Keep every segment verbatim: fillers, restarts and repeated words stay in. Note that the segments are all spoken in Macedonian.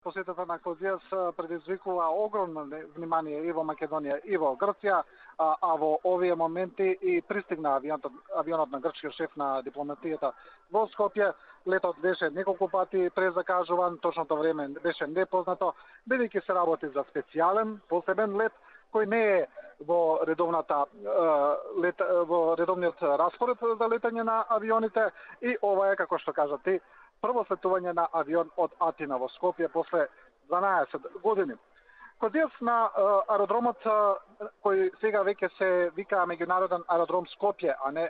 посетата на Козијас предизвикува огромно внимание и во Македонија и во Грција, а, а во овие моменти и пристигна авионот, авионот на грчкиот шеф на дипломатијата во Скопје. Летот беше неколку пати презакажуван, точното време беше непознато, бидејќи се работи за специјален, посебен лет, кој не е во редовната лет, во редовниот распоред за летање на авионите, и ова е, како што кажа ти, прво слетување на авион од Атина во Скопје после дванаесет години. Козијас на аеродромот, кој сега веќе се вика меѓународен аеродром Скопје, а не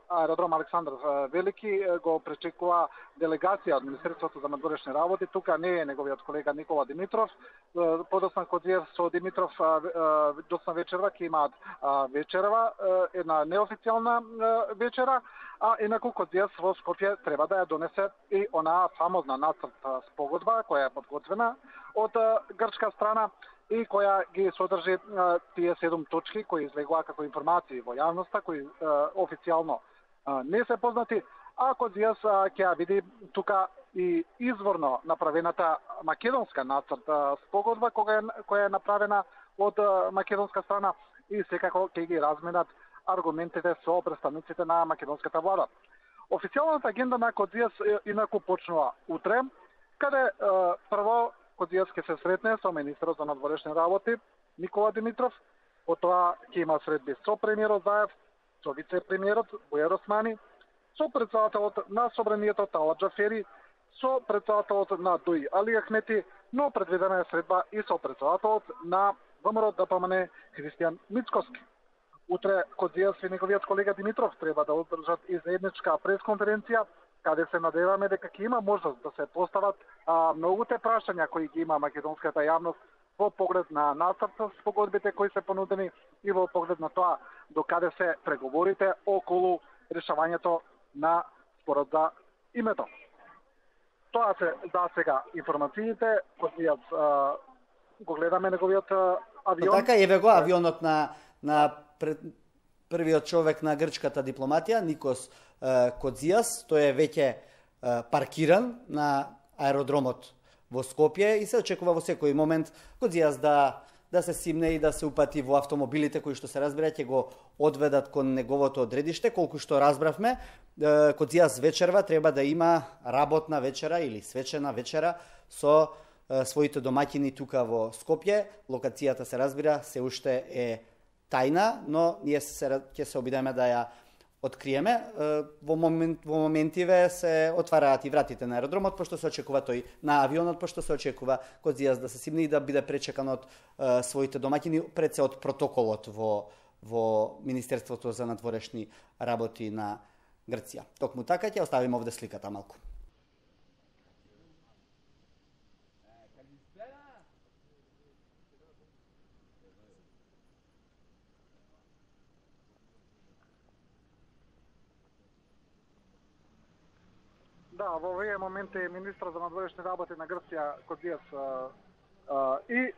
аеродром Александар Велики, го пречекува делегација од Министерството за надворешни работи. Тука не е неговиот колега Никола Димитров. Подоцна Козијас со Димитров доцна вечерва ќе имаат вечерва, една неофицијална вечера, а инаку Козијас во Скопје треба да ја донесе и онаа фамозна нацрт спогодба која е подготвена од грчка страна и која ги содржи а, тие седум точки кои излегува како информации во јавноста, кои а, официјално а, не се познати, а Козијас ќе ја види тука и изворно направената македонска нацрт спогодба која е, која е направена од а, македонска страна, и секако ќе ги разменат аргументите со представниците на македонската влада. Официјалната агенда на Козијас инаку почнува утре, каде а, прво Козијас ќе се сретне со министерот за надворешни работи Никола Димитров, потоа ќе има средби со премиерот Заев, со вице-премиерот Бујар Османи, со претседателот на Собранието Талат Џафери, со претседателот на ДУИ Али Ахмети, но предвидена е средба и со претседателот на ВМРО ДПМН Христијан Мицкоски. Утре Козијас и неговиот колега Димитров треба да одржат и заедничка пресконференција, каде се надеваме дека ќе има можност да се постават а, многуте прашања кои ги има македонската јавност во поглед на нацрт спогодбите кои се понудени и во поглед на тоа до каде се преговорите околу решавањето на спорот за името. Тоа се за сега информациите, Козијас го гледаме неговиот авион. Но така еве го авионот на на пред, првиот човек на грчката дипломатија, Никос Козијас, тој е веќе паркиран на аеродромот во Скопје и се очекува во секој момент Козијас да да се симне и да се упати во автомобилите кои што се разбира ќе го одведат кон неговото одредиште. Колку што разбравме, Козијас вечерва треба да има работна вечера или свечена вечера со своите домаќини тука во Скопје. Локацијата се разбира се уште е тајна, но ние се ќе се обидеме да ја откриеме. Во момент во моментиве се отвараат и вратите на аеродромот, пошто се очекува тој на авионот, пошто се очекува Козијас да се симне и да биде пречекан од е, своите домаќини, пред се од протоколот во во Министерството за надворешни работи на Грција. Токму така ќе оставиме овде сликата малку. Да, во овие моменти министрот за надворешни работи на Грција Козијас и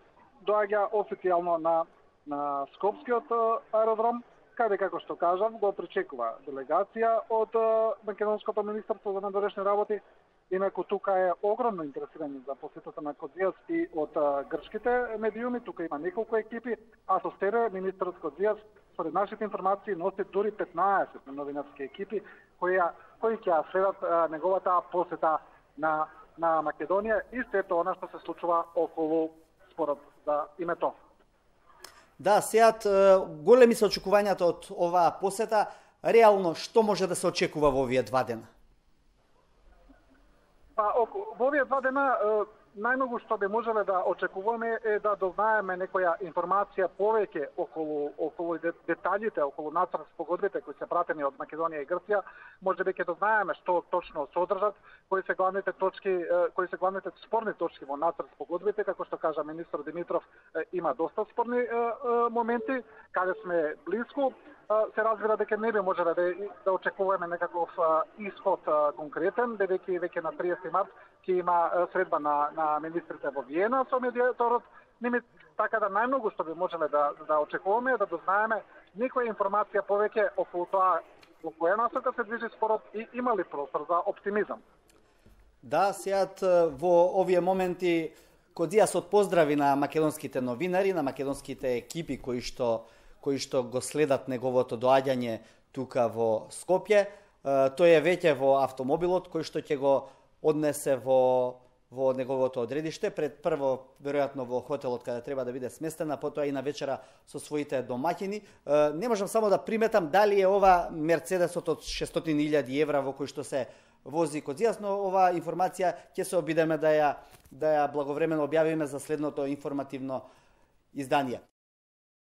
доаѓа официјално на на Скопскиот аеродром, каде, како што кажав, го пречекува делегација од Македонското министерство за надворешни работи. Инаку тука е огромно интересирање за посетата на Козијас и од грчките медиуми. Тука има неколку екипи, а со себе министерот Козијас, според нашите информации, носи дури петнаесет новинарски екипи кои кои ќе следат неговата посета на на Македонија и сето она што се случува околу спорот за името. Да, сеат големи се очекувањата од оваа посета. Реално што може да се очекува во овие два дена? Па, во овие два дена најмногу што би можеле да очекуваме е да дознаеме некоја информација повеќе околу околу деталите, околу нацрт спогодбите кои се пратени од Македонија и Грција. Можеби ќе дознаеме што точно содржат, кои се главните точки, кои се главните спорни точки во нацрт спогодбите. Како што кажа министр Димитров, има доста спорни моменти, каде сме блиску. Се разбира дека не би можеле да, да очекуваме некаков исход конкретен, бидејќи веќе на триесети март ќе има средба на, на министрите во Виена со медиаторот. Ними, така да најмногу што би можеле да, да очекуваме е да дознаеме некоја информација повеќе околу тоа во која насока се движи спорот и има ли простор за оптимизам. Да, сеат во овие моменти Кодзијасот поздрави на македонските новинари, на македонските екипи кои што кои што го следат неговото доаѓање тука во Скопје. Тој е веќе во автомобилот кој што ќе го однесе во во неговото одредиште, пред прво веројатно во хотелот каде треба да биде сместен, а потоа и на вечера со своите домаќини. Не можам само да приметам дали е ова Мерцедесот од шестстотини илјади евра во кој што се вози Кодзијас, но ова информација ќе се обидеме да ја да ја благовремено објавиме за следното информативно издание.